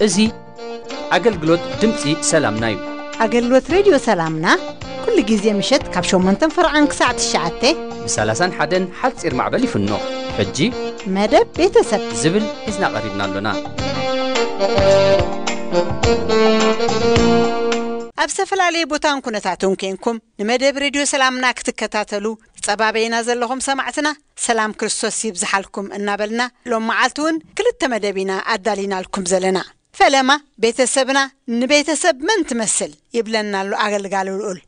እዚ ኣገልግሎት ድምፂ ሰላምና እዩ። ኣገልግሎት ሬድዮ ሰላምና ኩሉ ግዜ ምሸት ካብ ሸሞንተን ፈርዓን ክሳዕ ትሽዓተ ብ ሰላሳን ሓደን ሓፂር ማዕበል ይፍኖ። ሕጂ መደብ ቤተሰብ ዝብል ሒዝና ቀሪብና ኣሎና። ኣብ ዝተፈላለየ ቦታን ኩነታትን ኮንኩም ንመደብ ሬድዮ ሰላምና ክትከታተሉ ትጸባበዩና ዘለኹም ሰማዕትና፣ ሰላም ክርስቶስ ይብዝሓልኩም እናበልና፣ ሎም መዓልቲ እውን ክልተ መደብ ኢና ኣዳሊናልኩም ዘለና። ፈለማ ቤተሰብና ንቤተሰብ መን ትመስል ይብለና ኣሎ ኣገልጋሊ ልኡል።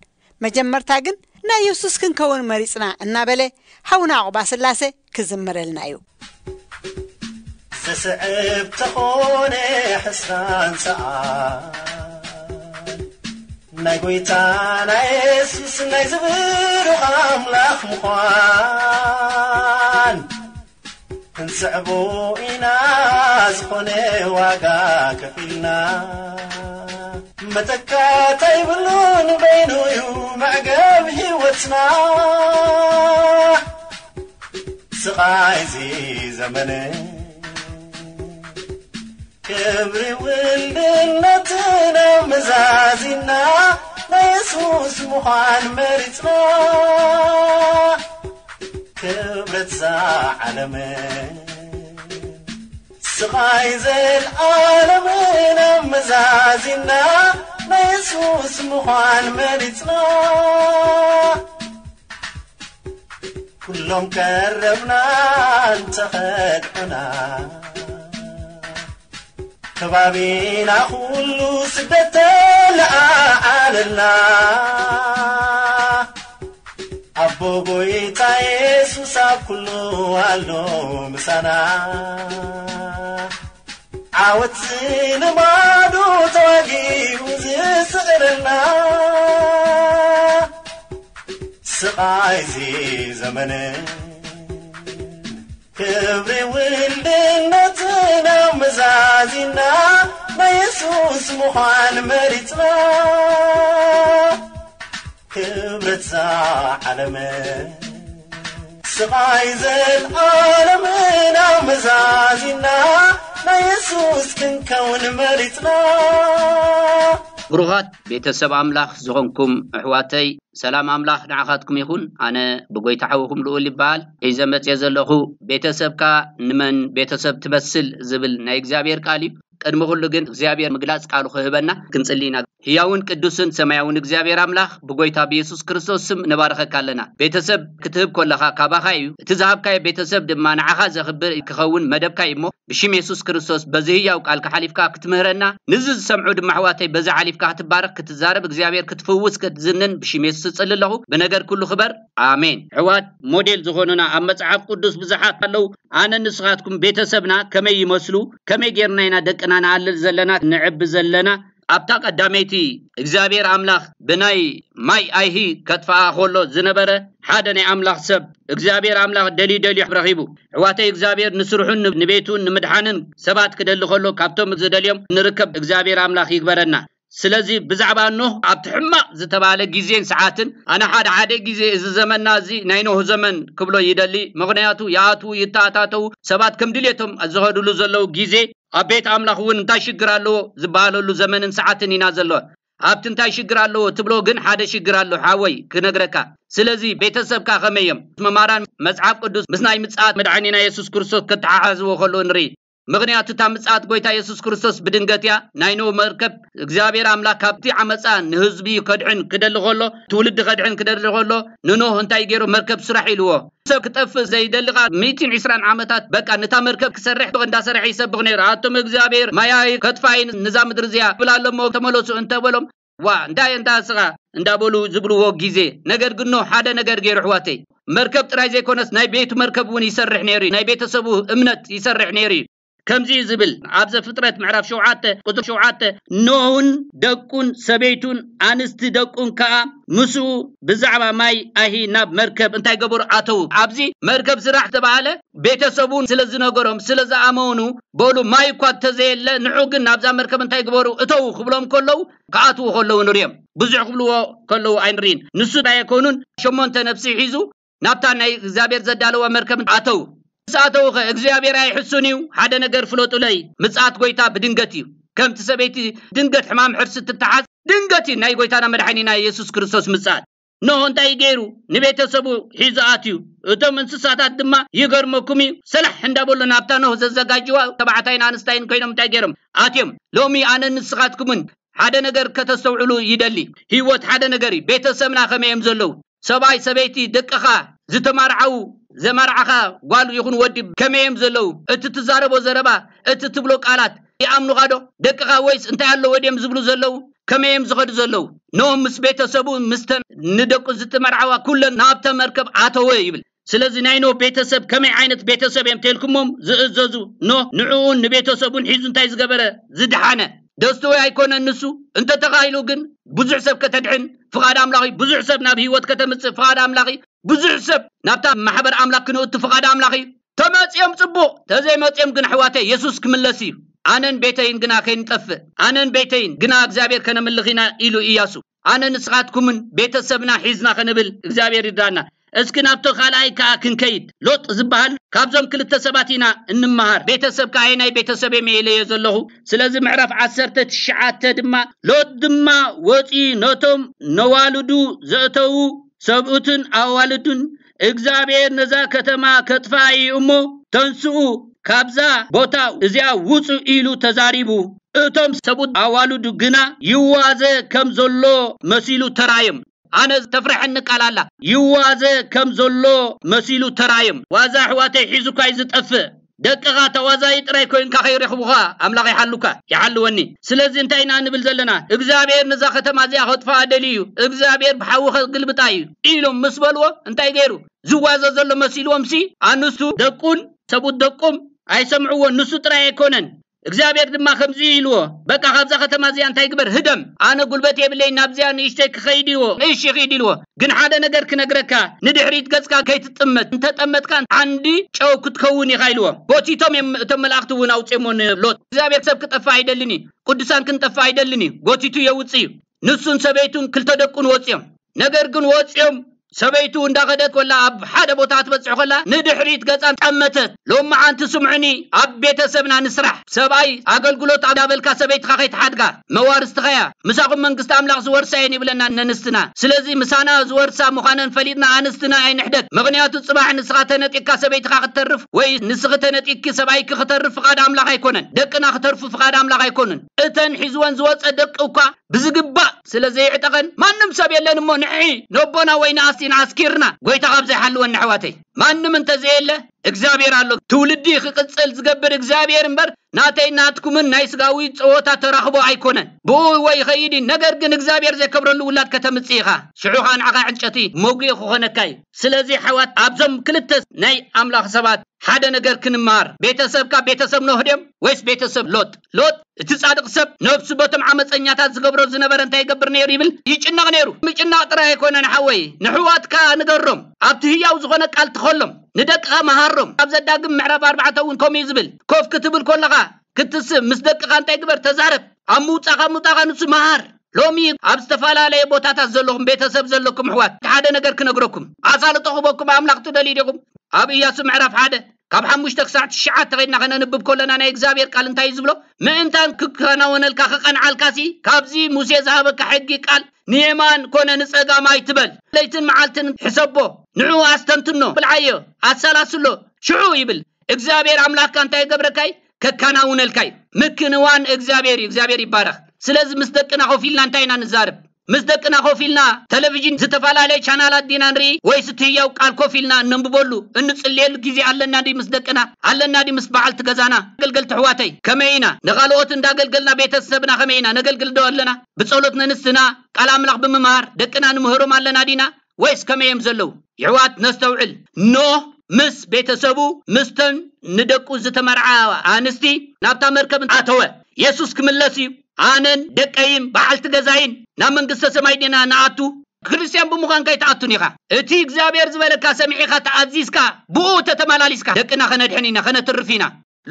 መጀመርታ ግን ናይ የሱስ ክንከውን መሪጽና እናበለ ሓውና ዕቑባ ስላሴ ክዝምረልና እዩ። ዝስዕብ ተኾነ ሕስራን ሰኣን ናይ ጎይታና የሱስ ናይ ዝብሩኽ ኣምላኽ ምዃን ክንስዕቦ ኢና ዝኾነ ዋጋ ከፊልና። መተካእታ ይብሉን በይኑ እዩ መዕገብ ህይወትና። ስቓይ እዚ ዘመን ክብሪ ውልድነትና መዛዚና ናይ የሱስ ምዃን መሪጽና። ክብረት እዛ ዓለምን ስቓይ ዘልኣለምን ኣመዛዚና ናይ የሱስ ምዃን መሪጽና። ኩሎም ቀረብና እንተኸድዑና፣ ከባቢና ኩሉ ስደት ተለዓዓለልና። ኣቦ ጎይታ የሱስ ኣብ ኩሉ ኣሎ ምሳና። ዓወት ዝልማዱ ተዋጊኡ ዝስዕረልና። ስቓይ እዚ ዘመን ክብሪ ውልድነትና መዛዚና ናይ የሱስ ምዃን መሪጽና። ክብረት እዛ ዓለም ስቓይ ዘልኣለምና መዛዚና ናይ የሱስ ክንከውን መሪጽና። ብሩኻት ቤተሰብ ኣምላኽ ዝኾንኩም ኣሕዋተይ፣ ሰላም ኣምላኽ ንዓኻትኩም ይኹን። ኣነ ብጎይታ ሓውኹም ልኡል ይበሃል። ሒዘ መጽየ ዘለኹ ቤተሰብካ ንመን ቤተሰብ ትመስል ዝብል ናይ እግዚኣብሔር ቃል እዩ። ቅድሚ ኩሉ ግን እግዚኣብሔር ምግላጽ ቃሉ ክህበና ክንጽሊ ኢና። ህያውን ቅዱስን ሰማያውን እግዚኣብሔር ኣምላኽ ብጎይታ ብየሱስ ክርስቶስ ስም ንባርኸካ ኣለና። ቤተሰብ ክትህብ ከለኻ ካባኻ እዩ። እቲ ዝሃብካዮ ቤተሰብ ድማ ንዓኻ ዘኽብር ክኸውን መደብካ እዩ እሞ ብሽም የሱስ ክርስቶስ በዚ ህያው ቃልካ ሓሊፍካ ክትምህረና፣ ንዚ ዝሰምዑ ድማ ኣሕዋተይ በዚ ሓሊፍካ ክትባረኽ፣ ክትዛረብ፣ እግዚኣብሔር ክትፍውስ፣ ክትዝንን ብሽም የሱስ እጽሊ ኣለኹ። ብነገር ኩሉ ክበር። ኣሜን። ኣሕዋት ሞዴል ዝኾኑና ኣብ መጽሓፍ ቅዱስ ብዙሓት ኣለዉ። ኣነ ንስኻትኩም ቤተሰብና ከመይ ይመስሉ? ከመይ ጌርና ኢና ደቅና ንኣልል ዘለና፣ ንዕቢ ዘለና? ኣብታ ቀዳመይቲ እግዚኣብሔር ኣምላኽ ብናይ ማይ ኣይሂ ከጥፍኣ ከሎ ዝነበረ ሓደ ናይ ኣምላኽ ሰብ እግዚኣብሔር ኣምላኽ ደልዩ ደልዩ ረኺቡ። ኣሕዋተይ እግዚኣብሔር ንስርሑን ንቤቱን ንምድሓንን ሰባት ክደሊ ከሎ ካብቶም ዝደልዮም ንርከብ እግዚኣብሔር ኣምላኽ ይግበረና። ስለዚ ብዛዕባ ኖህ ኣብቲ ሕማቕ ዝተባህለ ግዜን ሰዓትን ኣነ ሓደ ሓደ ግዜ እዚ ዘመንና እዚ ናይ ኖህ ዘመን ክብሎ ይደሊ። ምኽንያቱ ይኣትዉ ይተኣታተዉ ሰባት ከም ድልየቶም ዝኸድሉ ዘለዉ ግዜ ኣብ ቤት ኣምላኽ እውን እንታይ ሽግር ኣለዎ ዝበሃለሉ ዘመንን ሰዓትን ኢና ዘሎ። ኣብቲ እንታይ ሽግር ኣለዎ ትብሎ ግን ሓደ ሽግር ኣሎ ሓወይ ክነግረካ። ስለዚ ቤተሰብካ ከመይ እዮም? መማራን መጽሓፍ ቅዱስ ምስ ናይ ምጽኣት መድሓኒና የሱስ ክርስቶስ ከተሓሓዝዎ ከለዉ ንርኢ። ምኽንያቱ እታ ምጽኣት ጎይታ የሱስ ክርስቶስ ብድንገት እያ። ናይ ኖህ መርከብ እግዚኣብሔር ኣምላኽ ካብቲ ዓመጻ ንህዝቢ ከድሕን ክደሊ ከሎ፣ ትውልዲ ከድሕን ክደሊ ከሎ ንኖህ እንታይ ገይሩ? መርከብ ስራሕ ኢልዎ። ሰብ ክጠፍእ ዘይደሊ ኸኣ ሚእትን ዕስራን ዓመታት በቃ ነታ መርከብ ክሰርሕ እንዳሰርሐ ይሰብኽ ነይሩ። ኣቶም እግዚኣብሔር ማይ ኣይሂ ከጥፍኣ እዩ ንዛ ምድሪ እዚኣ ይብል ኣሎ እሞ ተመለሱ እንተበሎም፣ ዋ እንታይ እንታ ስኻ እንዳበሉ ዝብልዎ ግዜ። ነገር ግን ኖህ ሓደ ነገር ገይሩ ኣሕዋተይ። መርከብ ጥራይ ዘይኮነስ ናይ ቤቱ መርከብ እውን ይሰርሕ ነይሩ እዩ። ናይ ቤተሰቡ እምነት ይሰርሕ ነይሩ እዩ። ከምዚ እዩ ዝብል ኣብ ዘፍጥረት ምዕራፍ ሸውዓተ ቁፅሪ ሸውዓተ፣ ኖህን ደቁን ሰበይቱን ኣንስቲ ደቁን ከዓ ምስኡ ብዛዕባ ማይ ኣይሂ ናብ መርከብ እንታይ ገበሩ? ኣተዉ። ኣብዚ መርከብ ስራሕ ዝተባሃለ ቤተሰቡን ስለ ዝነገሮም ስለ ዝኣመኑ፣ በሉ ማይ እኳ እንተዘየለ ንዑ ግን ናብዛ መርከብ እንታይ ግበሩ? እተዉ ክብሎም ከለዉ፣ ክኣትዉ ከለዉ ንሪኦም። ብዙሕ ክብልዎ ከለዉ ኣይንርኢን። ንሱ ኣይኮኑን፣ ሸሞንተ ነፍሲ ሒዙ ናብታ ናይ እግዚኣብሔር ዘዳለዋ መርከብ ኣተዉ። ምስ ኣተዉ ኸ እግዚኣብሔር ኣይሕሱን እዩ? ሓደ ነገር ፍለጡለይ፣ ምጽኣት ጎይታ ብድንገት እዩ። ከምቲ ሰበይቲ ድንገት ሕማም ሕርሲ ትተሓዝ፣ ድንገት እዩ ናይ ጎይታና መድሓኒና የሱስ ክርስቶስ ምጽኣት። ኖህ እንታይ ገይሩ? ንቤተሰቡ ሒዙ ኣትዩ። እቶም እንስሳታት ድማ ይገርመኩም እዩ፣ ሰላሕ እንዳበሉ ናብታ ኖህ ዘዘጋጅዋ ተባዕታይን ኣንስታይን ኮይኖም እንታይ ገይሮም ኣትዮም። ሎሚ ኣነ ንስኻትኩምን ሓደ ነገር ከተስተውዕሉ ይደሊ። ህይወት ሓደ ነገር እዩ። ቤተሰብና ከመይ እዮም ዘለዉ? ሰብኣይ፣ ሰበይቲ፣ ደቅኻ፣ ዝተማርዓዉ፣ ዘማርዓኻ ጓል ይኹን ወዲ ከመይ እዮም ዘለዉ? እቲ ትዛረቦ ዘረባ፣ እቲ ትብሎ ቃላት ይኣምኑኻ ዶ? ደቅኻ ወይስ እንታይ ኣለዎ ድዮም ዝብሉ ዘለዉ? ከመይ እዮም ዝኸዱ ዘለዉ? ኖህ ምስ ቤተሰቡ፣ ምስተን ንደቁ ዝተመርዓዋ ኩለን ናብተ መርከብ ኣተወ ይብል። ስለዚ ናይ ኖህ ቤተሰብ ከመይ ዓይነት ቤተሰብ እዮም ተልኩሞም ዝእዘዙ? ኖህ ንዕኡን ንቤተሰቡን ሒዙ እንታይ ዝገበረ? ዝድሓነ። ደስትዊ ኣይኮነን ንሱ። እንተተኻኢሉ ግን ብዙሕ ሰብ ከተድሕን ፍቓድ ኣምላኽ እዩ። ብዙሕ ሰብ ናብ ህይወት ከተምጽእ ፍቓድ ኣምላኽ እዩ። ብዙሕ ሰብ ናብታ ማሕበር ኣምላኽ ክንእቱ ፍቓድ ኣምላኽ እዩ። ተመጽዮም ጽቡቕ፣ ተዘይመጽዮም ግን ኣሕዋተይ የሱስ ክምለስ እዩ። ኣነን ቤተይን ግና ከይንጠፍእ፣ ኣነን ቤተይን ግና እግዚኣብሔር ከነምልኽ ኢና ኢሉ እያሱ። ኣነ ንስኻትኩምን ቤተሰብና ሒዝና ከንብል እግዚኣብሔር ይርዳና። እስኪ ናብቶ ካልኣይ ከኣ ክንከይድ። ሎጥ ዝበሃል ካብዞም ክልተ ሰባት ኢና እንመሃር። ቤተሰብ ከኣ ናይ ቤተሰብ እየ ኢለዮ ዘለኹ። ስለዚ ምዕራፍ ዓሰርተ ትሽዓተ ድማ፣ ሎጥ ድማ ወፂኡ ነቶም ነዋልዱ ዘእተዉ ሰብኡትን ኣዋልዱን፣ እግዚኣብሔር ነዛ ከተማ ከጥፋ እዩ እሞ፣ ተንስኡ፣ ካብዛ ቦታ እዚኣ ውፁ ኢሉ ተዛሪቡ። እቶም ሰብኡት ኣዋልዱ ግና ይዋዘ ከም ዘሎ መሲሉ ተራዮም። ኣነ ተፍርሐኒ ቃል ኣላ፣ ይዋዘ ከም ዘሎ መሲሉ ተራዮም። ዋዛ ኣሕዋተይ ሒዙካ እዩ ዝጠፍእ። ደቅኻ ተዋዛይ ጥራይ ኮይንካ ከይረኽቡኻ ኣምላኽ ይሓሉካ፣ ይሓልወኒ። ስለዚ እንታይ ኢና ንብል ዘለና? እግዚኣብሔር ነዛ ከተማ እዚኣ ከጥፍኣ ደልዩ እዩ፣ እግዚኣብሔር ብሓዊ ከግልብጣ እዩ ኢሎም ምስ በልዎ እንታይ ገይሩ? ዝዋዘ ዘሎ መሲልዎም ሲ ኣንስቱ ደቁን ሰብኡት ደቁም ኣይሰምዕዎ። ንሱ ጥራይ ኣይኮነን፣ እግዚኣብሔር ድማ ከምዚ ኢልዎ፣ በቃ ካብዛ ከተማ እዚኣ እንታይ ግበር? ህደም። ኣነ ጉልበት የብለይ ናብዚኣ ንእሽተይ ክኸይድ ኢልዎ። እሺ ኺድ ኢልዎ። ግን ሓደ ነገር ክነግረካ፣ ንድሕሪት ገጽካ ከይትጥመት፣ እንተጠመትካ ዓንዲ ጨው ክትከውን ኢኻ ኢልዎ። ጎቲቶም እዮም እቶም መላእኽቲ እውን ኣውፅኦሞ ንሎጥ። እግዚኣብሔር ሰብ ክጠፋ ኣይደልን እዩ፣ ቅዱሳን ክንጠፋ ኣይደልን እዩ። ጎቲቱ የውፅእ እዩ። ንሱን ሰበይቱን ክልተ ደቁን ወፅዮም። ነገር ግን ወፅዮም ሰበይቱ እንዳኸደት ኮላ ኣብ ሓደ ቦታ ክትበፅሕ ኮላ ንድሕሪት ገፃ ጠመተት። ሎሚ ዓንቲ ስምዑኒ፣ ኣብ ቤተሰብና ንስራሕ። ሰብኣይ ኣገልግሎት እንዳበልካ ሰበይትኻ ከይትሓድጋ፣ መዋርስትኻያ። ምሳኹም መንግስቲ ኣምላኽ ዝወርሳ እየን ይብለና ነንስትና። ስለዚ ምሳና ዝወርሳ ምዃነን ፈሊጥና ኣንስትና ኣይንሕደግ። ምኽንያቱ ጽባሕ ንስኻ ተነጢካ ሰበይትኻ ክትተርፍ ወይ ንስኺ ተነጢኪ ሰብኣይኪ ክተርፍ ፍቓድ ኣምላኽ ኣይኮነን። ደቅና ክተርፉ ፍቓድ ኣምላኽ ኣይኮኑን። እተን ሒዝወን ዝወፀ ደቂ እኳ ብዝግባእ ስለ ዘይዕጠቐን ማንም ሰብ የለን እሞ ንሕሒ ነቦና ወይ ንኣስቲና ኣስኪርና ጎይታ ካብ ዘይሓልወን ኣሕዋተይ። ማንም እንተዘየለ እግዚኣብሔር ኣሎ። ትውልዲ ክቕጽል ዝገብር እግዚኣብሔር እምበር ናተይ ናትኩምን ናይ ስጋዊ ጸወታ ተራኽቦ ኣይኮነን። ብኡ ወይ ይኸይድ እዩ፣ ነገር ግን እግዚኣብሔር ዘይከብረሉ ውላድ ከተምጽእ ኢኻ። ሽዑ ኸኣ ንዓኻ ዕንጨቲ መጉኢ ክኾነካ እዩ። ስለዚ ኣሕዋት ኣብዞም ክልተ ናይ ኣምላኽ ሰባት ሓደ ነገር ክንመሃር። ቤተሰብካ ቤተሰብ ኖህ ድዮም ወይስ ቤተሰብ ሎጥ? ሎጥ እቲ ጻድቕ ሰብ ነብሱ በቶም ዓመጸኛታት ዝገብሮ ዝነበረ እንታይ ይገብር ነይሩ ይብል? ይጭነቕ ነይሩ። ምጭናቕ ጥራይ ኣይኮነን ሓወይ፣ ንሕዋትካ ንገሮም። ኣብቲ ህያው ዝኾነ ቃል ትኸሎም። ንደቅኻ መሃሮም። ኣብ ዘዳግም ምዕራፍ ኣርባዕተ እውን ከምኡ እዩ ዝብል። ኮፍ ክትብል ከለኻ ክትስእ ምስ ደቅኻ እንታይ ግበር? ተዛረብ። ኣብ ምውጻኻ ምውጣኻ ንሱ መሃር። ሎሚ ኣብ ዝተፈላለየ ቦታታት ዘለኹም ቤተሰብ ዘለኩም ኣሕዋት ሓደ ነገር ክነግረኩም። ኣሳልጦ ክበኩም ኣምላኽ ትደልዩ ዲኹም? ኣብ ኢያሱ ምዕራፍ ሓደ ካብ ሓሙሽተ ክሳዕ ትሽዓተ ኸይድና ከነንብብ ከለና ናይ እግዚኣብሔር ቃል እንታይ እዩ ዝብሎ? ምእንታን ክከናወነልካ ክቐንዓልካሲ ካብዚ ሙሴ ዝሃበካ ሕጊ ቃል ንየማን ኮነ ንጸጋም ኣይትበል። ለይትን መዓልትን ሕሰቦ፣ ንዕኡ ኣስተንትኖ፣ ብልዓዮ፣ ኣሰላስሎ። ሽዑ ይብል እግዚኣብሔር ኣምላኽካ እንታይ ይገብረካይ? ከከናውነልካይ። ምክንዋን እግዚኣብሔር እዩ። እግዚኣብሔር ይባረኽ። ስለዚ ምስ ደቅና ኮፍ ኢልና እንታይ ኢና ንዛረብ? ምስ ደቅና ኮፍ ኢልና ቴሌቪዥን ዝተፈላለየ ቻናላት ዲና ንርኢ ወይስ እቲ ህያው ቃል ኮፍ ኢልና እነንብበሉ እንጽልየሉ ግዜ ኣለና ድዩ? ምስ ደቅና ኣለና ድዩ? ምስ በዓልቲ ገዛና ኣገልገልቲ ኣሕዋተይ ከመይ ኢና ንኻልኦት እንዳገልገልና ቤተሰብና ከመይ ኢና ነገልግል ዶ ኣለና? ብጸሎት ነንስትና ቃል ኣምላኽ ብምምሃር ደቅና ንምህሮም ኣለና ዲና ወይስ ከመይ እዮም ዘለዉ? የሕዋት ነስተውዕል። ኖህ ምስ ቤተሰቡ፣ ምስተን ንደቁ ዝተመርዓ ኣንስቲ ናብታ መርከብ ኣተወ። የሱስ ክምለስ እዩ። ኣነን ደቀይን በዓልቲ ገዛይን ናብ መንግስተ ሰማይ ዲና ንኣቱ? ክርስትያን ብምዃን ከይትኣቱን ኢኻ። እቲ እግዚኣብሔር ዝበለካ ሰሚዒኻ ተኣዚዝካ፣ ብኡ ተተመላሊስካ፣ ደቅና ከነድሕን ኢና፣ ከነትርፍ ኢና።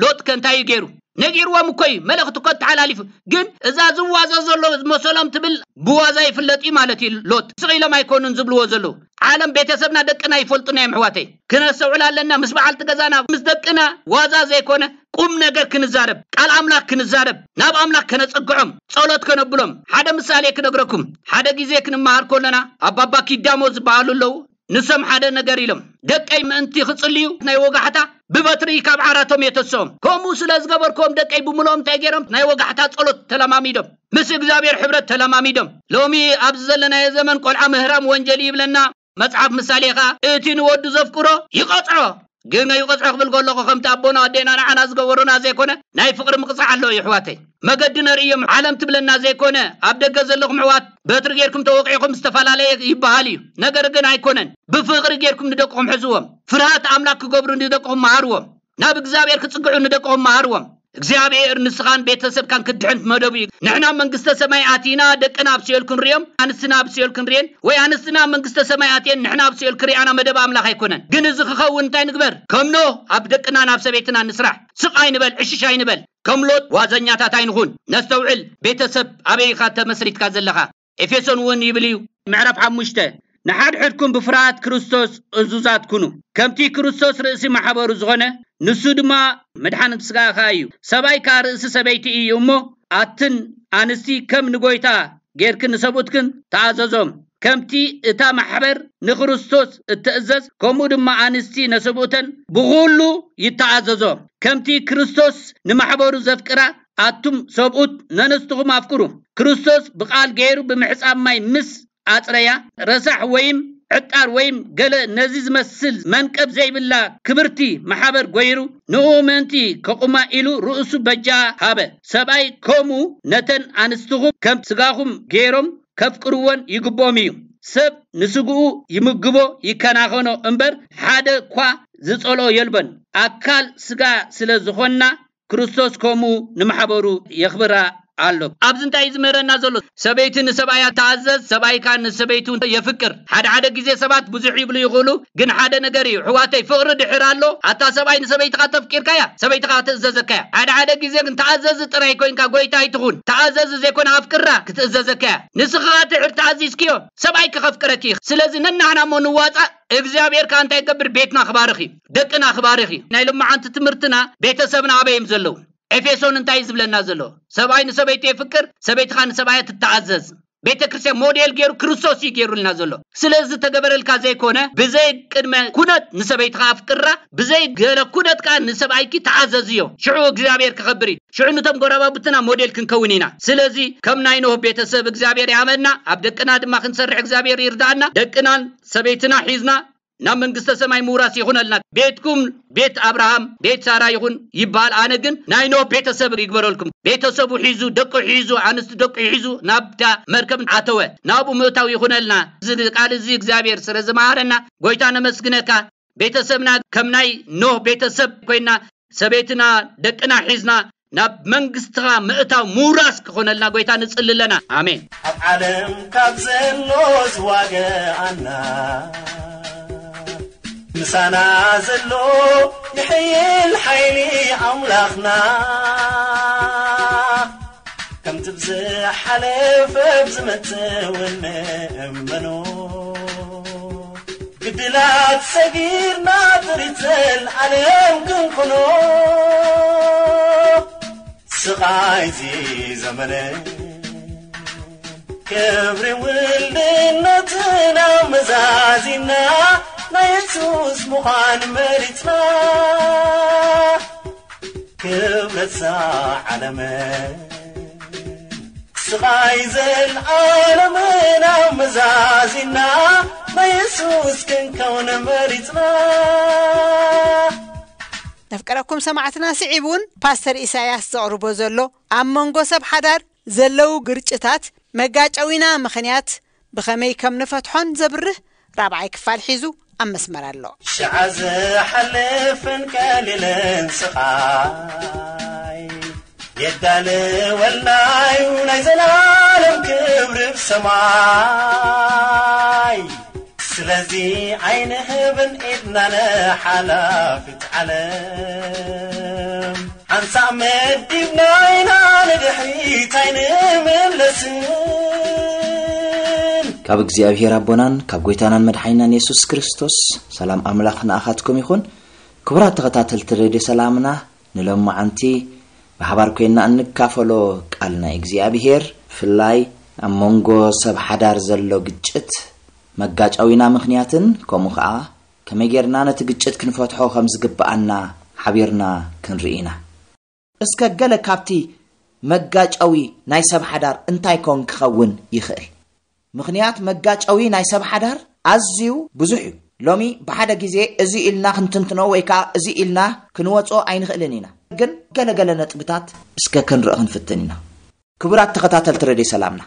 ሎጥ ከ እንታይ እዩ ገይሩ? ነጊርዎም እኮ እዩ፣ መልእኽቲ እኮ ተሓላሊፉ። ግን እዛ ዝዋዘ ዘሎ መሰሎም ትብል ብዋዛ ይፍለጥ እዩ ማለት እዩ። ሎጥ ስቕ ኢሎም ኣይኮኑን ዝብልዎ ዘለዉ። ዓለም፣ ቤተሰብና፣ ደቅና ይፈልጡና እዮም ኣሕዋተይ። ክነስተውዕል ኣለና። ምስ በዓልቲ ገዛና፣ ምስ ደቅና ዋዛ ዘይኮነ ቁም ነገር ክንዛረብ፣ ቃል ኣምላኽ ክንዛረብ፣ ናብ ኣምላኽ ከነጸግዖም፣ ጸሎት ከነብሎም። ሓደ ምሳሌ ክነግረኩም። ሓደ ግዜ ክንመሃር ከለና ኣባባ ኪዳሞ ዝበሃሉ ኣለዉ። ንሶም ሓደ ነገር ኢሎም፣ ደቀይ ምእንቲ ክጽልዩ ናይ ወጋሕታ ብበትሪ ካብ ዓራቶም የተስኦም። ከምኡ ስለ ዝገበርክዎም ደቀይ ብምልኦም እንታይ ገይሮም? ናይ ወጋሕታ ጸሎት ተለማሚዶም፣ ምስ እግዚኣብሔር ሕብረት ተለማሚዶም። ሎሚ ኣብዚ ዘለናዮ ዘመን ቆልዓ ምህራም ወንጀል ይብለና መጽሓፍ ምሳሌ ኸኣ፣ እቲ ንወዱ ዘፍቅሮ ይቐጽዖ። ግን ይቐጽዖ ክብል ከለኹ ከምቲ ኣቦና ኣዴና ንዓና ዝገበሩና ዘይኮነ ናይ ፍቕሪ ምቕጻዕ ኣሎ እዩ ኣሕዋተይ። መገዲ ነርእዮም ዓለም ትብለና ዘይኮነ ኣብ ደገ ዘለኹም ኣሕዋት በትሪ ጌርኩም ተወቒዕኹም ዝተፈላለየ ይበሃል እዩ። ነገር ግን ኣይኮነን። ብፍቕሪ ጌርኩም ንደቅኹም ሕዝዎም። ፍርሃት ኣምላኽ ክገብሩ ንደቅኹም መሃርዎም። ናብ እግዚኣብሔር ክጽግዑ ንደቅኹም መሃርዎም። እግዚኣብሔር ንስኻን ቤተሰብካን ክድሕን መደቡ እዩ። ንሕና መንግስተ ሰማይ ኣቲና ደቅና ኣብ ሲኦል ክንርእዮም፣ ኣንስትና ኣብ ሲኦል ክንርእየን፣ ወይ ኣንስትና ኣብ መንግስተ ሰማይ ኣትየን ንሕና ኣብ ሲኦል ክርእያና መደብ ኣምላኽ ኣይኮነን። ግን እዚ ክኸውን እንታይ ንግበር? ከም ኖህ ኣብ ደቅና ናብ ሰበይትና ንስራሕ። ስቕ ኣይንበል፣ ዕሽሽ ኣይንበል። ከም ሎጥ ዋዘኛታት ኣይንኹን። ነስተውዕል። ቤተሰብ ኣበይ ኢኻ ተመስሪትካ ዘለኻ? ኤፌሶን እውን ይብል እዩ፣ ምዕራፍ ሓሙሽተ፣ ንሓድሕድኩም ብፍርሃት ክርስቶስ እዙዛት ኩኑ። ከምቲ ክርስቶስ ርእሲ ማሕበሩ ዝኾነ፣ ንሱ ድማ መድሓኒት ስጋ ኸኣ እዩ። ሰብኣይ ከኣ ርእሲ ሰበይቲ እዩ እሞ፣ ኣትን ኣንስቲ ከም ንጎይታ ጌርክን ንሰብኡትክን ተኣዘዞም። ከምቲ እታ ማሕበር ንክርስቶስ እትእዘዝ፣ ከምኡ ድማ ኣንስቲ ነሰብኡተን ብኹሉ ይተኣዘዞ። ከምቲ ክርስቶስ ንማሕበሩ ዘፍቅራ፣ ኣቱም ሰብኡት ነንስትኹም ኣፍቅሩ። ክርስቶስ ብቓል ገይሩ ብምሕጻብ ማይ ምስ ኣጽረያ፣ ረሳሕ ወይም ዕጣር ወይም ገለ ነዚ ዝመስል መንቀብ ዘይብላ ክብርቲ ማሕበር ጎይሩ፣ ንኡ ምእንቲ ከቑማ ኢሉ ርእሱ በጃ ሃበ። ሰብኣይ ከምኡ ነተን ኣንስትኹም ከም ስጋኹም ገይሮም ከፍቅርወን ይግብኦም እዩ። ሰብ ንስግኡ ይምግቦ ይከናኸኖ እምበር፣ ሓደ እኳ ዝጸልኦ የልቦን። ኣካል ስጋ ስለ ዝኾንና፣ ክርስቶስ ከምኡ ንማሕበሩ የኽብራ ኣሎ። ኣብዚ እንታይ እዩ ዝምህረና ዘሎ? ሰበይቲ ንሰብኣያ ትኣዘዝ፣ ሰብኣይ ከኣ ንሰበይቱ የፍቅር። ሓደ ሓደ ግዜ ሰባት ብዙሕ ይብሉ ይኽእሉ፣ ግን ሓደ ነገር እዩ። ኣሕዋተይ፣ ፍቕሪ ድሕር ኣሎ። ኣታ ሰብኣይ ንሰበይትኻ ተፍቂርካያ፣ ሰበይትኻ ትእዘዘካያ። ሓደ ሓደ ግዜ ግን ተኣዘዚ ጥራይ ኮይንካ ጎይታ ኣይትኹን። ተኣዘዚ ዘይኮነ ኣፍቅራ ክትእዘዘካያ። ንስኻ ድሕር ተኣዚዝክዮ፣ ሰብኣይ ክኸፍቅረኪ እዩ። ስለዚ ነናህና እሞ ንዋጻእ። እግዚኣብሔር ከኣ እንታይ ይገብር? ቤትና ክባርኽ እዩ፣ ደቅና ክባርኽ እዩ። ናይ ሎማዓንቲ ትምህርትና፣ ቤተሰብና ኣበይ እዮም ዘለዉ? ኤፌሶን እንታይ እዩ ዝብለና ዘሎ? ሰብኣይ ንሰበይቱ የፍቅር፣ ሰበይቲ ከኣ ንሰብኣያ ትተኣዘዝ። ቤተ ክርስቲያን ሞዴል ገይሩ ክርስቶስ እዩ ገይሩልና ዘሎ። ስለዚ ተገበረልካ ዘይኮነ፣ ብዘይ ቅድመ ኩነት ንሰበይትኻ ኣፍቅራ፣ ብዘይ ገለ ኩነት ከኣ ንሰብኣይኪ ተኣዘዝዮ። ሽዑ እግዚኣብሔር ክኸብር እዩ። ሽዑ ነቶም ጎረባብትና ሞዴል ክንከውን ኢና። ስለዚ ከም ናይ ኖህ ቤተሰብ እግዚኣብሔር ይሃበና፣ ኣብ ደቅና ድማ ክንሰርሕ እግዚኣብሔር ይርዳእና። ደቅናን ሰበይትና ሒዝና ናብ መንግስተ ሰማይ ምውራስ ይኹነልና። ቤትኩም ቤት ኣብርሃም፣ ቤት ሳራ ይኹን ይበሃል፣ ኣነ ግን ናይ ኖህ ቤተሰብ ይግበረልኩም። ቤተሰቡ ሒዙ፣ ደቁ ሒዙ፣ ኣንስቲ ደቁ ሒዙ ናብታ መርከብ ኣተወ። ናብኡ ምእታው ይኹነልና። እዚ ቃል እዚ እግዚኣብሔር ስለ ዝመሃረና ጎይታ ነመስግነካ። ቤተሰብና ከም ናይ ኖህ ቤተሰብ ኮይና፣ ሰበይትና ደቅና ሒዝና ናብ መንግስትኻ ምእታው ምውራስ ክኾነልና ጎይታ ንጽሊ ኣለና። ኣሜን። ኣብ ዓለም ካብ ዘሎ ዝዋገኣና፣ ምሳና ዘሎ ይሕይል ሓይሊ ኣምላኽና፣ ከምቲ ብዝሓለፈ ብዝመጽእ እውን ንእመኖ። ግድላት ሰጊርና ጥሪት ዘልዓለም ክንኮኖ፣ ስቓይ እዚ ዘመነ ክብሪ ውልድነትና መዛዚና፣ ናይ የሱስ ምዃን መሪጽና። ክብረት እዛ ዓለምን ስቓይ ዘልዓለምን ኣመዛዚና፣ ናይ የሱስ ክንከውን መሪጽና። ነፍቀረኩም ሰማዕትና፣ ስዒቡ እውን ፓስተር ኢሳያስ ዘቕርቦ ዘሎ ኣብ መንጎ ሰብ ሓዳር ዘለዉ ግርጭታት መጋጨዊና ምኽንያት ብኸመይ ከም ንፈትሖን ዘብርህ ራብዓይ ክፋል ሒዙ ኣብ መስመር ኣሎ። ሽዓ ዝሓልፍን ቀሊልን ስቓይ የዳልወልና እዩ ናይ ዘላለም ክብሪ ብሰማይ። ስለዚ ኣይንህብን ኢድና ንሓላፊት ዓለም፣ ሓንሳእ መዲብና ኢና ንድሕሪት ኣይንምለስን። ካብ እግዚኣብሔር ኣቦናን ካብ ጎይታናን መድሓይናን የሱስ ክርስቶስ ሰላም ኣምላኽ ንኣኻትኩም ይኹን። ክቡራት ተኸታተልቲ ሬድዮ ሰላምና፣ ንሎማዓንቲ ብሓባር ኮይንና እንካፈሎ ቃል ናይ እግዚኣብሔር፣ ብፍላይ ኣብ መንጎ ሰብ ሓዳር ዘሎ ግጭት መጋጫዊና ምኽንያትን ከምኡ ኸዓ ከመይ ጌርና ነቲ ግጭት ክንፈትሖ ከም ዝግብኣና ሓቢርና ክንርኢ ኢና። እስከ ገለ ካብቲ መጋጨዊ ናይ ሰብ ሓዳር እንታይ ኮን ክኸውን ይኽእል? ምኽንያት መጋጨዊ ናይ ሰብ ሓዳር ኣዝዩ ብዙሕ እዩ። ሎሚ ብሓደ ግዜ እዚ ኢልና ክንትንትኖ ወይ ከዓ እዚ ኢልና ክንወጾ ኣይንኽእልን ኢና። ግን ገለገለ ነጥብታት እስከ ክንርኢ ክንፍትን ኢና። ክቡራት ተኸታተልቲ ሬድዮ ሰላምና፣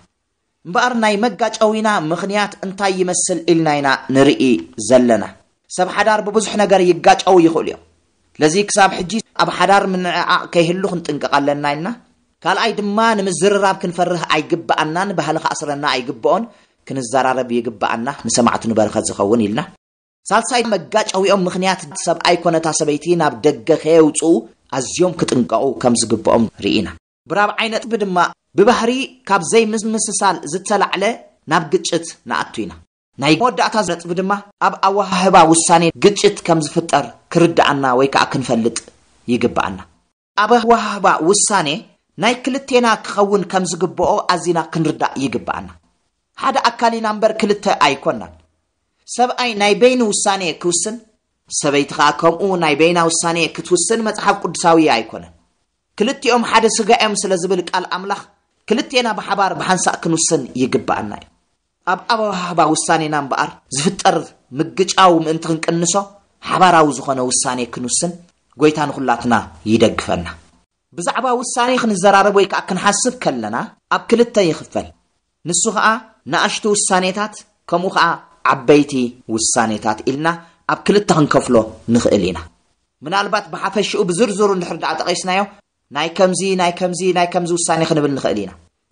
እምበኣር ናይ መጋጨዊና ምኽንያት እንታይ ይመስል ኢልና ኢና ንርኢ ዘለና። ሰብ ሓዳር ብብዙሕ ነገር ይጋጨው ይኽእሉ እዮም። ስለዚ ክሳብ ሕጂ ኣብ ሓዳር ምንዕዓቕ ከይህሉ ክንጥንቀቕ ኣለና ኢልና። ካልኣይ ድማ ንምዝርራብ ክንፈርህ ኣይግብኣናን፣ ባህሊ ክኣስረና ኣይግብኦን፣ ክንዘራረብ ይግብኣና፣ ንሰማዕቱ ንበረኸት ዝኸውን ኢልና። ሳልሳይ መጋጨዊኦም ምኽንያት ሰብኣይ ኮነታ ሰበይቲ ናብ ደገ ከየውፅኡ ኣዝዮም ክጥንቀቑ ከም ዝግብኦም ርኢና። ብራብዓይ ነጥቢ ድማ ብባህሪ ካብ ዘይምምስሳል ዝተላዕለ ናብ ግጭት ንኣቱ ኢና። ናይ መወዳእታ ነጥቢ ድማ ኣብ ኣወሃህባ ውሳኔ ግጭት ከም ዝፍጠር ክርድኣና ወይ ከዓ ክንፈልጥ ይግብኣና። ኣብ ኣወሃህባ ውሳኔ ናይ ክልቴና ክኸውን ከም ዝግብኦ ኣዚና ክንርዳእ ይግብኣና። ሓደ ኣካል ኢና እምበር ክልተ ኣይኮናን። ሰብኣይ ናይ በይኑ ውሳኔ ክውስን፣ ሰበይቲ ኸዓ ከምኡ ናይ በይና ውሳኔ ክትውስን መጽሓፍ ቅዱሳዊ ኣይኮነን። ክልቲኦም ሓደ ስጋ እዮም ስለ ዝብል ቃል ኣምላኽ፣ ክልቴና ብሓባር ብሓንሳእ ክንውስን ይግብኣና እዩ። ኣብ ኣወሃህባ ውሳኔና እምበኣር ዝፍጠር ምግጫው ምእንቲ ክንቅንሶ፣ ሓባራዊ ዝኾነ ውሳኔ ክንውስን ጎይታ ንኹላትና ይደግፈና። ብዛዕባ ውሳኔ ክንዘራረብ ወይ ከዓ ክንሓስብ ከለና ኣብ ክልተ ይኽፈል። ንሱ ኸዓ ንኣሽቱ ውሳኔታት ከምኡ ኸዓ ዓበይቲ ውሳኔታት ኢልና ኣብ ክልተ ክንከፍሎ ንኽእል ኢና። ምናልባት ብሓፈሽኡ ብዝርዝሩ እንድሕር ደኣ ጠቒስናዮ ናይ ከምዚ ናይ ከምዚ ናይ ከምዚ ውሳኔ ክንብል ንኽእል ኢና።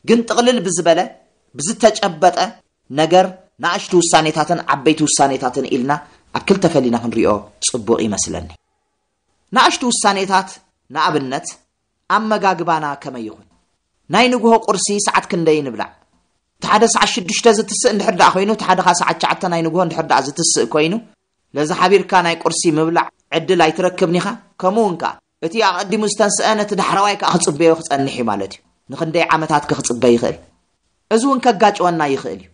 ግን ጥቕልል ብዝበለ ብዝተጨበጠ ነገር ንኣሽቱ ውሳኔታትን ዓበይቲ ውሳኔታትን ኢልና ኣብ ክልተ ፈሊና ክንሪኦ ጽቡቕ ይመስለኒ። ንኣሽቱ ውሳኔታት ንኣብነት ኣመጋግባና ከመይ ይኹን? ናይ ንግሆ ቁርሲ ሰዓት ክንደይ ንብላዕ? እቲ ሓደ ሰዓት ሽዱሽተ ዝትስእ እንድሕር ደኣ ኮይኑ፣ እቲ ሓደ ኸዓ ሰዓት ትሽዓተ ናይ ንግሆ እንድሕር ደኣ ዝትስእ ኮይኑ፣ ነዚ ሓቢርካ ናይ ቁርሲ ምብላዕ ዕድል ኣይትረክብን ኢኻ። ከምኡ እውን ከኣ እቲ ኣቐዲሙ ዝተንስአ ነቲ ዳሕረዋይ ከኣ ክጽበዮ ክጸንሕ እዩ ማለት እዩ። ንኽንደይ ዓመታት ከ ክጽበ ይኽእል? እዚ እውን ከጋጭወና ይኽእል እዩ።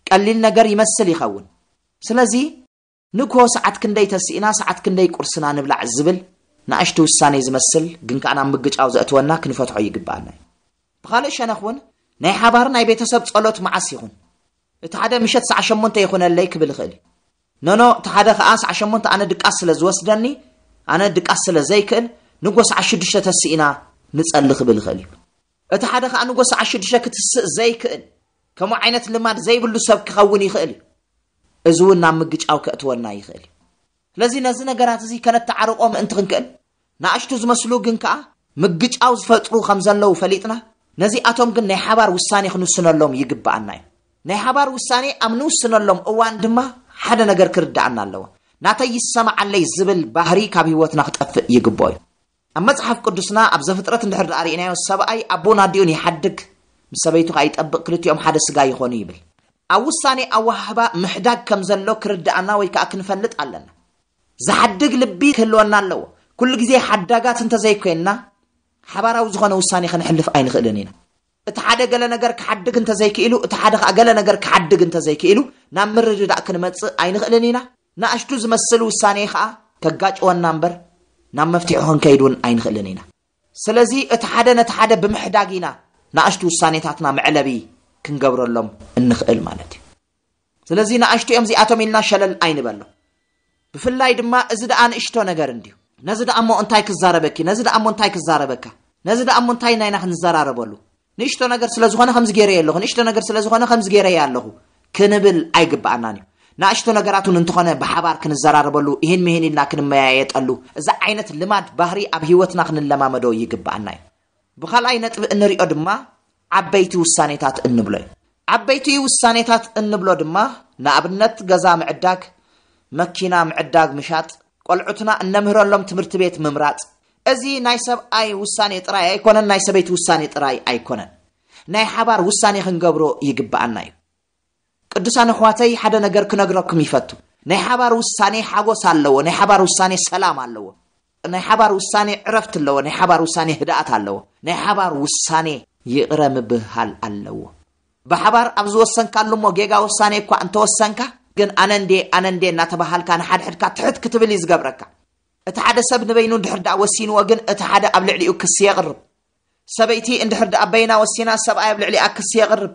ቀሊል ነገር ይመስል ይኸውን። ስለዚ ንግሆ ሰዓት ክንደይ ተሲእና ሰዓት ክንደይ ቁርስና ንብላዕ ዝብል ንኣሽቱ ውሳኔ ዝመስል ግን ከኣ ናብ ምግጫው ዘእትወና ክንፈትሖ ይግብኣና እዩ። ብኻልእ ሸነኽ እውን ናይ ሓባር ናይ ቤተሰብ ጸሎት መዓስ ይኹን? እቲ ሓደ ምሸት ሰዓ ሸሞንተ ይኹነለይ ክብል ይኽእል እዩ። ኖኖ፣ እቲ ሓደ ከኣ ሰዓ ሸሞንተ ኣነ ድቃስ ስለ ዝወስደኒ፣ ኣነ ድቃስ ስለ ዘይክእል ንጎ ሰዓ ሽዱሽተ ተሲእና ንጸሊ ክብል ይኽእል እዩ። እቲ ሓደ ከኣ ንጎ ሰዓ ሽዱሽተ ክትስእ ዘይክእል ከምኡ ዓይነት ልማድ ዘይብሉ ሰብ ክኸውን ይኽእል እዩ። እዚ እውን ናብ ምግጫው ከእትወና ይኽእል እዩ። ስለዚ ነዚ ነገራት እዚ ከነተዓርቆ ምእንቲ ክንክእል ንኣሽቱ ዝመስሉ ግን ከኣ ምግጫው ዝፈጥሩ ከም ዘለዉ ፈሊጥና ነዚኣቶም ግን ናይ ሓባር ውሳኔ ክንውስነሎም ይግብኣና እዩ። ናይ ሓባር ውሳኔ ኣብ ንውስነሎም እዋን ድማ ሓደ ነገር ክርድኣና ኣለዎ። ናተይ ይሰማዓለይ ዝብል ባህሪ ካብ ህይወትና ክጠፍእ ይግብኦ እዩ። ኣብ መጽሓፍ ቅዱስና ኣብ ዘፍጥረት እንድሕር ደኣ ርኢናዮ ሰብኣይ ኣቦን ኣዲኡን ይሓድግ፣ ምስ ሰበይቱ ከኣ ይጠብቕ፣ ክልቲኦም ሓደ ስጋ ይኾኑ ይብል። ኣብ ውሳኔ ኣወሃህባ ምሕዳግ ከም ዘሎ ክርድኣና ወይ ከኣ ክንፈልጥ ኣለና። ዝሓድግ ልቢ ክህልወና ኣለዎ። ኩሉ ግዜ ሓዳጋት እንተዘይኮይንና ሓባራዊ ዝኾነ ውሳኔ ከነሕልፍ ኣይንኽእልን ኢና። እቲ ሓደ ገለ ነገር ክሓድግ እንተዘይክኢሉ፣ እቲ ሓደ ከኣ ገለ ነገር ክሓድግ እንተዘይክኢሉ ናብ ምርድዳእ ክንመጽእ ኣይንኽእልን ኢና። ንኣሽቱ ዝመስል ውሳኔ ከኣ ከጋጭወና እምበር ናብ መፍትሒ ክንከይድ እውን ኣይንኽእልን ኢና። ስለዚ እቲ ሓደ ነቲ ሓደ ብምሕዳግ ኢና ንኣሽቱ ውሳኔታትና መዕለቢ ክንገብረሎም እንኽእል ማለት እዩ። ስለዚ ንኣሽቱ እዮም እዚኣቶም ኢልና ሸለል ኣይንበሎ። ብፍላይ ድማ እዚ ደኣ ንእሽቶ ነገር እንድዩ። ነዚ ደኣ እሞ እንታይ ክዛረበኪ፣ ነዚ ደኣ እሞ እንታይ ክዛረበካ፣ ነዚ ደኣ እሞ እንታይ ናይና ክንዘራረበሉ? ንእሽቶ ነገር ስለ ዝኾነ ከምዚ ገይረዮ ኣለኹ፣ ንእሽቶ ነገር ስለ ዝኾነ ከምዚ ገይረዮ ኣለኹ ክንብል ኣይግብኣናን እዩ። ንኣሽቶ ነገራት እውን እንተኾነ ብሓባር ክንዘራረበሉ፣ ይህን ምሂን ኢልና ክንመያየጠሉ፣ እዚ ዓይነት ልማድ ባህሪ ኣብ ህይወትና ክንለማመዶ ይግብኣና እዩ። ብኻልኣይ ነጥቢ እንሪኦ ድማ ዓበይቲ ውሳኔታት እንብሎ እዩ። ዓበይቲ ውሳኔታት እንብሎ ድማ ንኣብነት ገዛ ምዕዳግ፣ መኪና ምዕዳግ ምሻጥ፣ ቆልዑትና እነምህረሎም ትምህርቲ ቤት ምምራፅ። እዚ ናይ ሰብኣይ ውሳኔ ጥራይ ኣይኮነን፣ ናይ ሰበይቲ ውሳኔ ጥራይ ኣይኮነን። ናይ ሓባር ውሳኔ ክንገብሮ ይግብኣና እዩ። ቅዱሳን ኣሕዋተይ፣ ሓደ ነገር ክነግረኩም ይፈቱ። ናይ ሓባር ውሳኔ ሓጎስ ኣለዎ። ናይ ሓባር ውሳኔ ሰላም ኣለዎ። ናይ ሓባር ውሳኔ ዕረፍቲ ኣለዎ። ናይ ሓባር ውሳኔ ህድኣት ኣለዎ። ናይ ሓባር ውሳኔ ይቕረ ምብህሃል ኣለዎ። ብሓባር ኣብ ዝወሰንካሉ እሞ ጌጋ ውሳኔ እኳ እንተወሰንካ፣ ግን ኣነ እንዴ ኣነ እንዴ እናተባሃልካ ንሓድሕድካ ትሕት ክትብል እዩ ዝገብረካ። እቲ ሓደ ሰብ ንበይኑ እንድሕር ደኣ ወሲንዎ፣ ግን እቲ ሓደ ኣብ ልዕሊኡ ክሲ የቕርብ። ሰበይቲ እንድሕር ደኣ በይና ወሲና፣ ሰብኣይ ኣብ ልዕሊኣ ክሲ የቕርብ።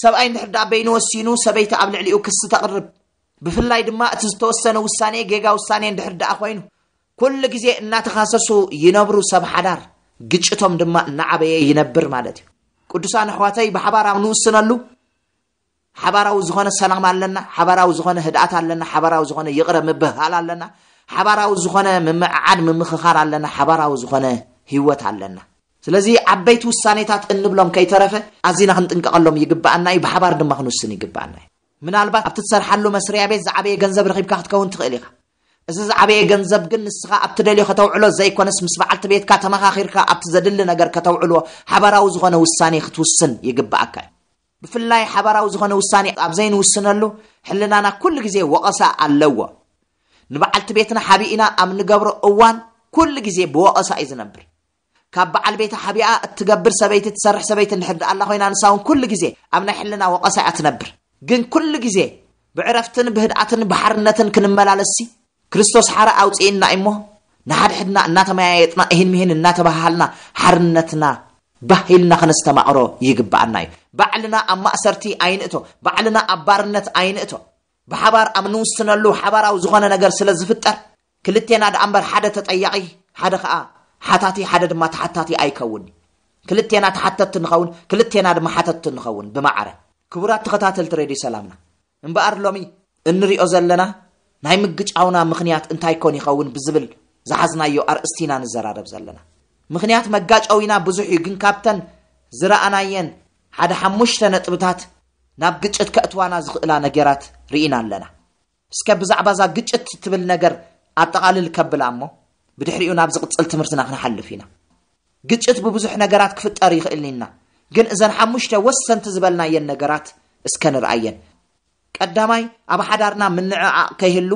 ሰብኣይ እንድሕር ደኣ በይኑ ወሲኑ፣ ሰበይቲ ኣብ ልዕሊኡ ክሲ ተቕርብ። ብፍላይ ድማ እቲ ዝተወሰነ ውሳኔ ጌጋ ውሳኔ እንድሕር ደኣ ኮይኑ፣ ኩሉ ግዜ እናተኻሰሱ ይነብሩ ሰብ ሓዳር፣ ግጭቶም ድማ እናዓበየ ይነብር ማለት እዩ። ቅዱሳን ኣሕዋተይ፣ ብሓባር ኣብ ንውስነሉ ሓባራዊ ዝኾነ ሰላም ኣለና፣ ሓባራዊ ዝኾነ ህድኣት ኣለና፣ ሓባራዊ ዝኾነ ይቕረ ምብህሃል ኣለና፣ ሓባራዊ ዝኾነ ምምዕዓድ ምምኽኻር ኣለና፣ ሓባራዊ ዝኾነ ህይወት ኣለና። ስለዚ ዓበይቲ ውሳኔታት እንብሎም ከይተረፈ ኣዚና ክንጥንቀቐሎም ይግብኣና እዩ፣ ብሓባር ድማ ክንውስን ይግብኣና እዩ። ምናልባት ኣብቲ ትሰርሓሉ መስርያ ቤት ዝዓበየ ገንዘብ ረኺብካ ክትከውን ትኽእል ኢኻ። እዚ ዝዓበየ ገንዘብ ግን ንስኻ ኣብ ትደልዮ ከተውዕሎ ዘይኮነስ፣ ምስ በዓልቲ ቤትካ ተመኻኺርካ ኣብቲ ዘድሊ ነገር ከተውዕሎ ሓባራዊ ዝኾነ ውሳኔ ክትውስን ይግብኣካ እዩ። ብፍላይ ሓባራዊ ዝኾነ ውሳኔ ኣብ ዘይንውስነሉ፣ ሕልናና ኩሉ ግዜ ወቐሳ ኣለዎ። ንበዓልቲ ቤትና ሓቢእና ኣብ ንገብሮ እዋን ኩሉ ግዜ ብወቐሳ እዩ ዝነብር። ካብ በዓል ቤታ ሓቢኣ እትገብር ሰበይቲ፣ ትሰርሕ ሰበይቲ እንድሕር ደኣ ኣላ ኮይና፣ ንሳ እውን ኩሉ ግዜ ኣብ ናይ ሕልና ወቐሳ እያ ትነብር። ግን ኩሉ ግዜ ብዕረፍትን ብህድኣትን ብሓርነትን ክንመላለስሲ፣ ክርስቶስ ሓራ ኣውፅእና እሞ፣ ንሓድሕድና እናተመያየጥና፣ እሂን ምሂን እናተባሃሃልና፣ ሓርነትና ባህ ኢልና ከነስተማቕሮ ይግብኣና እዩ። ባዕልና ኣብ ማእሰርቲ ኣይንእቶ፣ ባዕልና ኣብ ባርነት ኣይንእቶ። ብሓባር ኣብ ንውስነሉ ሓባራዊ ዝኾነ ነገር ስለ ዝፍጠር፣ ክልቴና ደኣ እምበር ሓደ ተጠያቒ፣ ሓደ ኸኣ ሓታቲ፣ ሓደ ድማ ተሓታቲ ኣይከውን። ክልቴና ተሓተቲ ንኸውን፣ ክልቴና ድማ ሓተቲ ንኸውን ብማዕረ። ክቡራት ተኸታተልቲ ሬድዮ ሰላምና፣ እምበኣር ሎሚ እንሪኦ ዘለና ናይ ምግጫውና ምኽንያት እንታይ ኮን ይኸውን ብዝብል ዝሓዝናዮ ኣርእስቲ ኢና ንዘራረብ ዘለና። ምኽንያት መጋጨዊና ብዙሕ እዩ፣ ግን ካብተን ዝረኣናየን ሓደ ሓሙሽተ ነጥብታት ናብ ግጭት ከእትዋና ዝኽእላ ነገራት ርኢና ኣለና። እስከ ብዛዕባ እዛ ግጭት እትብል ነገር ኣጠቓልል ከብላ እሞ፣ ብድሕሪኡ ናብ ዝቕጽል ትምህርትና ክንሓልፍ ኢና። ግጭት ብብዙሕ ነገራት ክፍጠር ይኽእል ኢና፣ ግን እዘን ሓሙሽተ ወሰንቲ ዝበልናየን ነገራት እስከ ንርኣየን። ቀዳማይ፣ ኣብ ሓዳርና ምንዕዓቕ ከይህሉ፣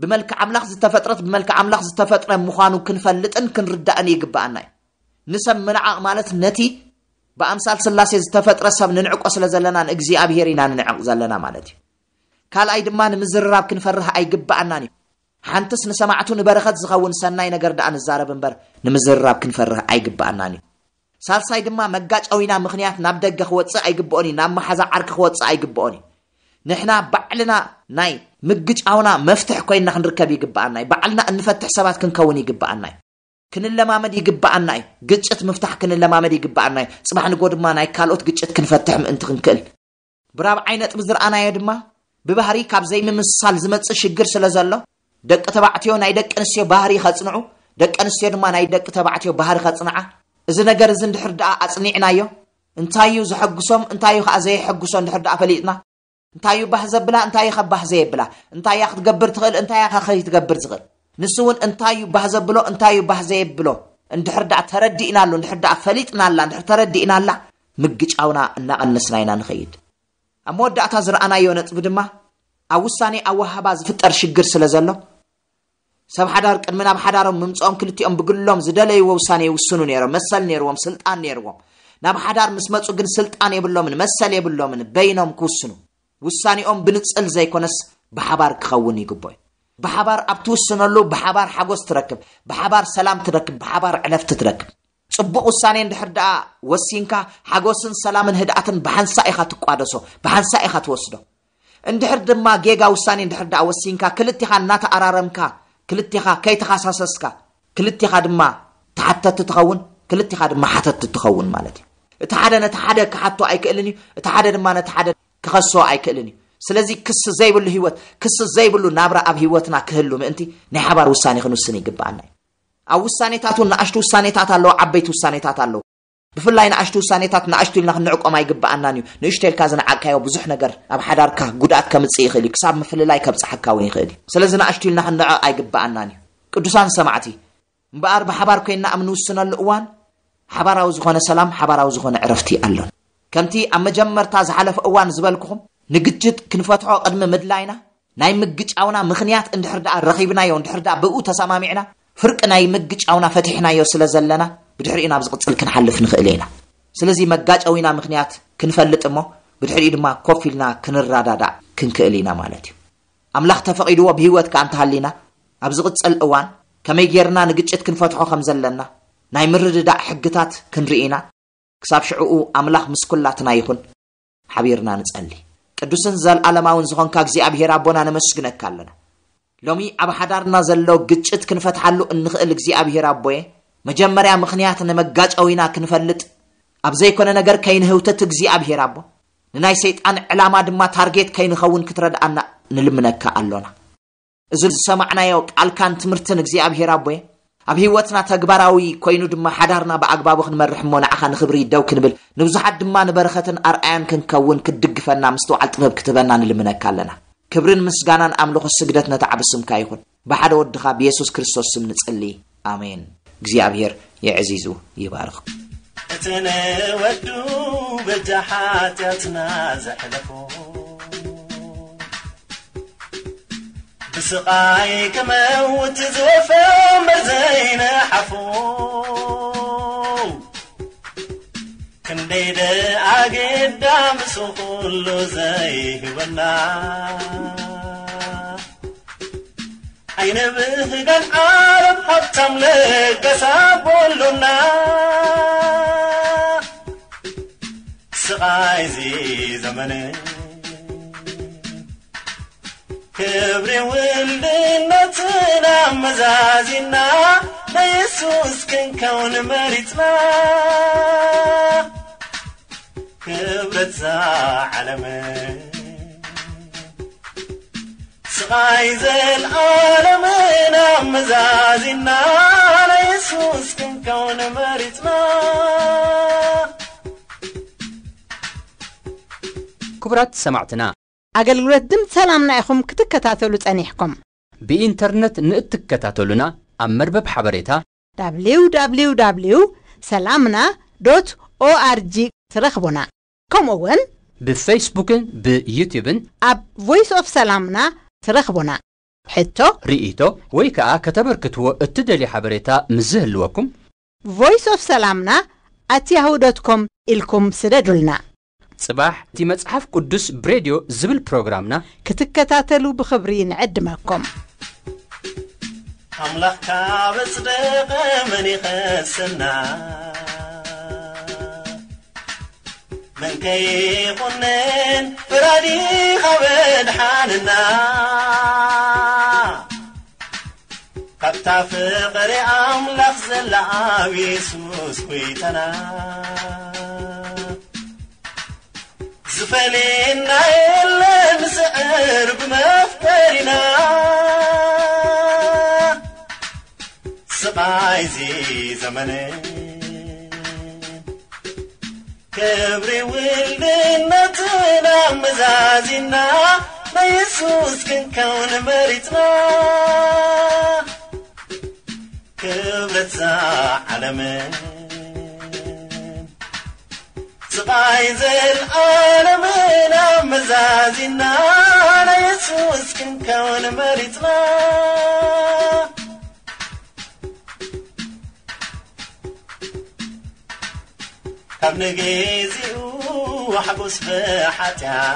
ብመልክዕ ኣምላኽ ዝተፈጥረት ብመልክዕ ኣምላኽ ዝተፈጥረ ምዃኑ ክንፈልጥን ክንርዳእን ይግብኣና እዩ። ንሰብ ምንዓቕ ማለት ነቲ ብኣምሳል ስላሴ ዝተፈጥረ ሰብ ንንዕቆ ስለ ዘለና፣ ንእግዚኣብሔር ኢና ንንዕቕ ዘለና ማለት እዩ። ካልኣይ ድማ፣ ንምዝርራብ ክንፈርህ ኣይግብኣናን እዩ። ሓንትስ ንሰማዕቱ ንበረኸት ዝኸውን ሰናይ ነገር ደኣ ንዛረብ እምበር፣ ንምዝርራብ ክንፈርህ ኣይግብኣናን እዩ። ሳልሳይ ድማ፣ መጋጨዊና ምኽንያት ናብ ደገ ክወጽእ ኣይግብኦን እዩ፣ ናብ መሓዛ ዓርኪ ክወጽእ ኣይግብኦን እዩ። ንሕና ባዕልና ናይ ምግጫውና መፍትሕ ኮይንና ክንርከብ ይግብኣና እዩ። ባዕልና እንፈትሕ ሰባት ክንከውን ይግብኣና እዩ። ክንለማመድ ይግብኣና እዩ። ግጭት ምፍታሕ ክንለማመድ ይግብኣና እዩ። ጽባሕ ንጎ ድማ ናይ ካልኦት ግጭት ክንፈትሕ ምእንቲ ክንክእል። ብራብዓይ ነጥቢ ዝረኣናዮ ድማ፣ ብባህሪ ካብ ዘይምምስሳል ዝመጽእ ሽግር ስለ ዘሎ፣ ደቂ ተባዕትዮ ናይ ደቂ ኣንስትዮ ባህሪ ከጽንዑ፣ ደቂ ኣንስትዮ ድማ ናይ ደቂ ተባዕትዮ ባህሪ ከጽንዓ። እዚ ነገር እዚ እንድሕር ደኣ ኣጽኒዕናዮ፣ እንታይ እዩ ዘሐጉሶም፣ እንታይ እዩ ከኣ ዘየሐጉሶ እንድሕር ደኣ ፈሊጥና፣ እንታይ እዩ ባህ ዘብላ፣ እንታይ እዩ ከ ባህ ዘየብላ፣ እንታይ እያ ክትገብር ትኽእል፣ እንታይ እያ ከ ከይትገብር ትኽእል፣ ንሱ እውን እንታይ እዩ ባህ ዘብሎ፣ እንታይ እዩ ባህ ዘየብሎ እንድሕር ደኣ ተረዲእናሉ፣ እንድሕር ደኣ ፈሊጥናላ፣ እንድሕር ተረዲእናላ፣ ምግጫውና እናቐነስና ኢና ንኸይድ። ኣብ መወዳእታ ዝረኣናዮ ነጥቢ ድማ፣ ኣብ ውሳኔ ኣወሃህባ ዝፍጠር ሽግር ስለ ዘሎ፣ ሰብ ሓዳር ቅድሚ ናብ ሓዳሮም ምምጽኦም ክልቲኦም ብግሎም ዝደለይዎ ውሳኔ ይውስኑ ነይሮም። መሰል ነይርዎም፣ ስልጣን ነይርዎም። ናብ ሓዳር ምስ መጹ ግን ስልጣን የብሎምን፣ መሰል የብሎምን በይኖም ክውስኑ። ውሳኔኦም ብንጽል ዘይኮነስ ብሓባር ክኸውን ይግብኦ እዩ። ብሓባር ኣብ ትውስነሉ፣ ብሓባር ሓጎስ ትረክብ፣ ብሓባር ሰላም ትረክብ፣ ብሓባር ዕረፍቲ ትረክብ። ጽቡቕ ውሳኔ እንድሕር ደኣ ወሲንካ፣ ሓጎስን ሰላምን ህድኣትን ብሓንሳእ ኢኻ ትቋደሶ፣ ብሓንሳእ ኢኻ ትወስዶ። እንድሕር ድማ ጌጋ ውሳኔ እንድሕር ደኣ ወሲንካ፣ ክልቴኻ እናተኣራረምካ፣ ክልቴኻ ከይተኻሳሰስካ፣ ክልቴኻ ድማ ተሓተቲ ትኸውን፣ ክልቴኻ ድማ ሓተቲ ትኸውን ማለት እዩ። እቲ ሓደ ነቲ ሓደ ክሓቶ ኣይክእልን እዩ፣ እቲ ሓደ ድማ ነቲ ሓደ ክኸሶ ኣይክእልን እዩ። ስለዚ ክሲ ዘይብሉ ህይወት፣ ክሲ ዘይብሉ ናብራ ኣብ ህይወትና ክህሉ ምእንቲ ናይ ሓባር ውሳኔ ክንውስን ይግብኣና እዩ። ኣብ ውሳኔታት እውን ንኣሽቱ ውሳኔታት ኣለዉ፣ ዓበይቲ ውሳኔታት ኣለዉ። ብፍላይ ንኣሽቱ ውሳኔታት ንኣሽቱ ኢልና ክንዕቆም ኣይግብኣናን እዩ። ንእሽቶ ኢልካ ዝነዓቅካዮ ብዙሕ ነገር ኣብ ሓዳርካ ጉድኣት ከምጽእ ይኽእል እዩ፣ ክሳብ ምፍልላይ ከብጽሓካ እውን ይኽእል እዩ። ስለዚ ንኣሽቱ ኢልና ክንንዕቕ ኣይግብኣናን እዩ። ቅዱሳን ሰማዕቲ፣ እምበኣር ብሓባር ኮይንና ኣብ ንውስነሉ እዋን ሓባራዊ ዝኾነ ሰላም፣ ሓባራዊ ዝኾነ ዕረፍቲ ኣሎን። ከምቲ ኣብ መጀመርታ ዝሓለፈ እዋን ዝበልኩኹም፣ ንግጭት ክንፈትሖ ቅድሚ ምድላይና፣ ናይ ምግጫውና ምኽንያት እንድሕር ደኣ ረኺብናዮ፣ እንድሕር ደኣ ብኡ ተሰማሚዕና፣ ፍርቂ ናይ ምግጫውና ፈቲሕናዮ ስለ ዘለና፣ ብድሕሪኡ ናብ ዝቕጽል ክንሓልፍ ንኽእል ኢና። ስለዚ መጋጨዊና ምኽንያት ክንፈልጥ እሞ፣ ብድሕሪኡ ድማ ኮፍ ኢልና ክንረዳዳእ ክንክእል ኢና ማለት እዩ። ኣምላኽ ተፈቒድዎ ብህይወት ከኣ እንተሃሊና፣ ኣብ ዝቕጽል እዋን ከመይ ጌርና ንግጭት ክንፈትሖ ከም ዘለና፣ ናይ ምርድዳእ ሕግታት ክንርኢ ኢና። ክሳብ ሽዕኡ ኣምላኽ ምስ ኩላትና ይኹን። ሓቢርና ንጸሊ። ቅዱስን ዘልኣለማውን ዝኾንካ እግዚኣብሔር ኣቦና ነመስግነካ ኣለና። ሎሚ ኣብ ሓዳርና ዘሎ ግጭት ክንፈትሓሉ እንኽእል እግዚኣብሔር ኣቦየ፣ መጀመርያ ምኽንያት ንመጋጨዊና ክንፈልጥ፣ ኣብ ዘይኮነ ነገር ከይንህውተት እግዚኣብሔር ኣቦ፣ ንናይ ሰይጣን ዕላማ ድማ ታርጌት ከይንኸውን ክትረድኣና ንልምነካ ኣሎና። እዚ ዝሰማዕናዮ ቃልካን ትምህርትን እግዚኣብሔር ኣቦየ፣ ኣብ ህይወትና ተግባራዊ ኮይኑ ድማ ሓዳርና ብኣግባቡ ክንመርሕ እሞ ንዓኻ ንኽብሪ ደው ክንብል፣ ንብዙሓት ድማ ንበረኸትን ኣርኣያን ክንከውን ክትድግፈና ምስትውዓል ጥበብ ክትህበና ንልምነካ ኣለና። ክብርን ምስጋናን ኣምልኾ ስግደት ነታ ዓቢ ስምካ ይኹን። ብሓደ ወድኻ ብየሱስ ክርስቶስ ስም ንጽሊ። ኣሜን። እግዚኣብሔር የዕዚዙ ይባርኽ። እቲ ንወዱ በጃ ሓጢኣትና ዘሕለፎ፣ ብስቓይ ክመውት ዝወፈ እምበር ዘይነሓፎ፣ ክንደይ ደኣ ግዳ ምስ ኩሉ ዘይህበና፣ ኣይንብህጋን ዓለም ሃብታም ለጋስ ኣቦ ኣሎና። ስቓይ እዚ ዘመን ክብሪ ውልድነትና ኣመዛዚና፣ ንየሱስ ክንከውን መሪጽና። ክብረት እዛ ዓለም ስቓይ ዘልኣለምን ኣመዛዚና፣ ንየሱስ ክንከውን መሪጽና። ክቡራት ሰማዕትና፣ ኣገልግሎት ድምፂ ሰላምና ኢኹም ክትከታተሉ ጸኒሕኩም። ብኢንተርነት ንእትከታተሉና፣ ኣብ መርበብ ሓበሬታ www ሰላምና ዶት ኦኣርጂ ትረኽቡና። ከምኡ እውን ብፌስቡክን ብዩትዩብን ኣብ ቮይስ ኦፍ ሰላምና ትረኽቡና። ሕቶ፣ ርእይቶ ወይ ከዓ ከተበርክትዎ እትደልዩ ሓበሬታ ምስ ዝህልወኩም፣ ቮይስ ኦፍ ሰላምና ኣት ያሁ ዶት ኮም ኢልኩም ስደዱልና። ጽባሕ እቲ መጽሓፍ ቅዱስ ብሬድዮ ዝብል ፕሮግራምና ክትከታተሉ ብኽብሪ ንዕድመኩም። ኣምላኽ ካብ ኣጽደቐ መን ይኸሰና? መን ከይኹንን ፈራዲ ካብ ኣድሓነና? ካብታ ፍቕሪ ኣምላኽ ዘላ ኣብ የሱስ ጐይታና ዝፈልየና የለን፣ ንስዕር ብመፍቀሪና። ስቓይ እዚ ዘመን ክብሪ ውልድነትና ኣመዛዚና፣ ናይ የሱስ ክንከውን መሪጽና። ክብረት እዛ ዓለምን ስቓይ ዘልኣለምን ኣመዛዚና፣ ናይ የሱስ ክንከውን መሪጽና። ካብ ንግዜኡ ሓጎስ ብሓጢኣት፣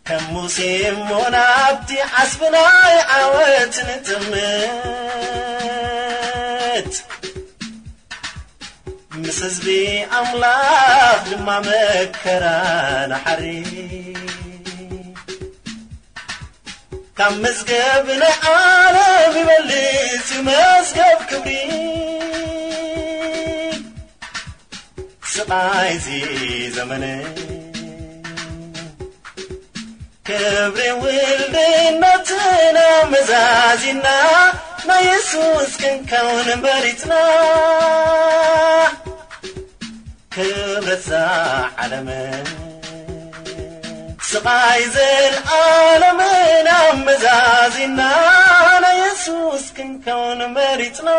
ከም ሙሴ እሞ ናብቲ ዓስቢ ናይ ዓወት ንጥምት። ምስ ህዝቢ ኣምላኽ ድማ መከራ ንሓሪ። ካብ መዝገብ ናይ ዓለም ይበልጽ እዩ መዝገብ ክብሪ። ስቓይ እዚ ዘመን ክብሪ ውልድነትና መዛዚና ናይ የሱስ ክንከውን መሪጽና። ክብረዛ ዓለምን ስቓይ ዘልዓለምን ኣመዛዚና ናይ የሱስ ክንከውን መሪጽና።